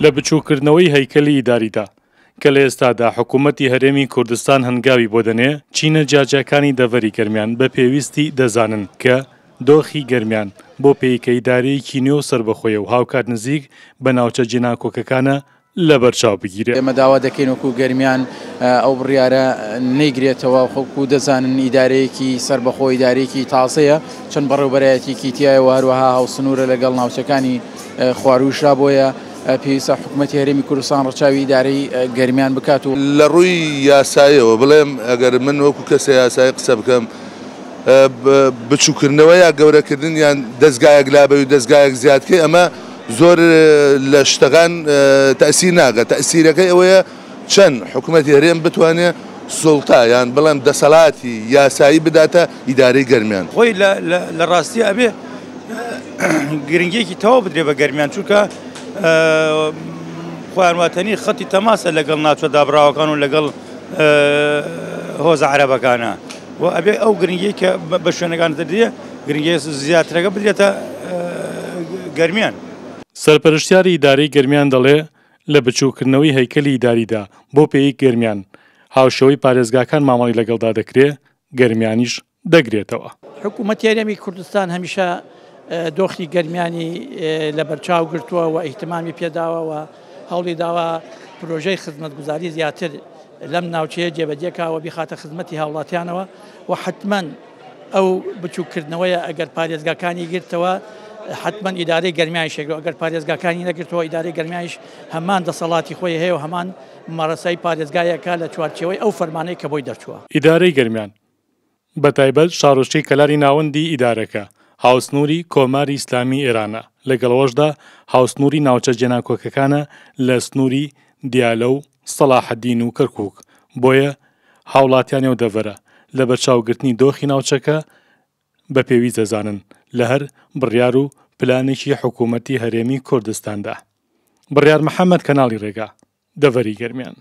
لە بچووککردنەوەی هەیکەلی ئیداریدا کە لە ئێستادا حکوومەتی هەرێمی کوردستان هەنگاوی بۆ دەنێ، چینە جیاجیاکانی دەڤەری گەرمیان بە پێویستی دەزانن کە دۆخی گەرمیان بۆ پێی کە ئیدارەیەکی نوێ و سەربەخۆیە و هاوکات نزیک بە ناوچە جێناکۆکەکانە لەبەرچاو بگیرێ. ئێمە داوا دەکەین وەکو گەرمیان ئەو بڕیارە نەیگرێتەوە، وەکو دەزانن ئیدارەیەکی سەربەخۆ ئیدارەیەکی تازەیە، چەند بەڕێوبەرایەتیەکی تیایە و هەروەها هاوسنوورە لەگەڵ ناوچەکانی خوارووشدا، بۆیە پێویستە حکومەتی هەرێمی کوردستان ڕەچاوی ئیدارەی گەرمیان بکات و. لە ڕووی یاساییەوە بڵێم ئەگەر من وەکو کەسە یاسایی قسە بکەم بچووکردنەوە یا گەورەکردن یان دەزگایەک لابەی و دەزگایەک زیادکەی ئەمە زۆر لە شتەکان تەئسیر ناکات، تەئسیرەکەی ئەوەیە چەند حکومەتی هەرێم بتوانێت سوڵتە یان بڵێم دەسەڵاتی یاسایی بداتە ئیدارەی گەرمیان. خۆی لە ڕاستیا ئەبێ گرنگیەکی تەواو بدرێ بە گەرمیان چونکە خۆیان واتەنی خەتی تەماسە لەگەڵ ناوچە دابراوەکان و لەگەڵ هۆزە عەرەبەکانە و ئەبێ ئەو گرنگی کە بە شوێنەکان دەدرێ گرنگی زیاترەکە بدرێتە گەرمیان. سەرپەرشتیاری ئیدارەی گەرمیان دەڵێ، لە بچووککردنەوەی هەیکەلی ئیداریدا بۆ پێی گەرمیان، هاوشێوەی پارێزگاکان مامەڵەی لەگەڵدا دەکرێ، گەرمیانیش دەگرێتەوە. حکوومەتی هەرێمی کوردستان هەمیشە دۆخی گەرمیانی لەبەرچاو گرتووە و ئیهتمامی پێداوە و هەوڵی داوە پرۆژەی خزمەتگوزاری زیاتر لەم ناوچەیە جێبەجێ کا و بیخاتە خزمەتی هاوڵاتیانەوە و حەتمەن ئەو بچووککردنەوەیە ئەگەر پارێزگاکانی گرتەوە حەتمەن ئیدارەی گەرمیانیش یەکگرەوە ئەگەر پارێزگاکانی نەگرتەوە ئیدارەی گەرمیانیش هەمان دەسەڵاتی خۆی هەیە و هەمان ممارەسەی پارێزگایەکە لە چوارچێوەی ئەو فەرمانەی کە بۆی دەرچووە. ئیدارەی گەرمیان بەتایبەت شارۆچکەی کەلاری ناوەندی ئیدارەکە هاوسنووری کۆماری ئیسلامی ئێرانە، لەگەڵ ئەوەشدا هاوسنووری ناوچە جێناکۆکەکانە لە سنووری دیالە و سەڵاحەدین و کەرکووک، بۆیە هاوڵاتیانی ئەو دەڤەرە لەبەرچاوگرتنی دۆخی ناوچەکە بە پێویست دەزانن لە هەر بڕیار و پلانێکی حکوومەتی هەرێمی کوردستاندا. بڕیار محەمەد کەناڵی ڕێگا، دەڤەری گەرمیان.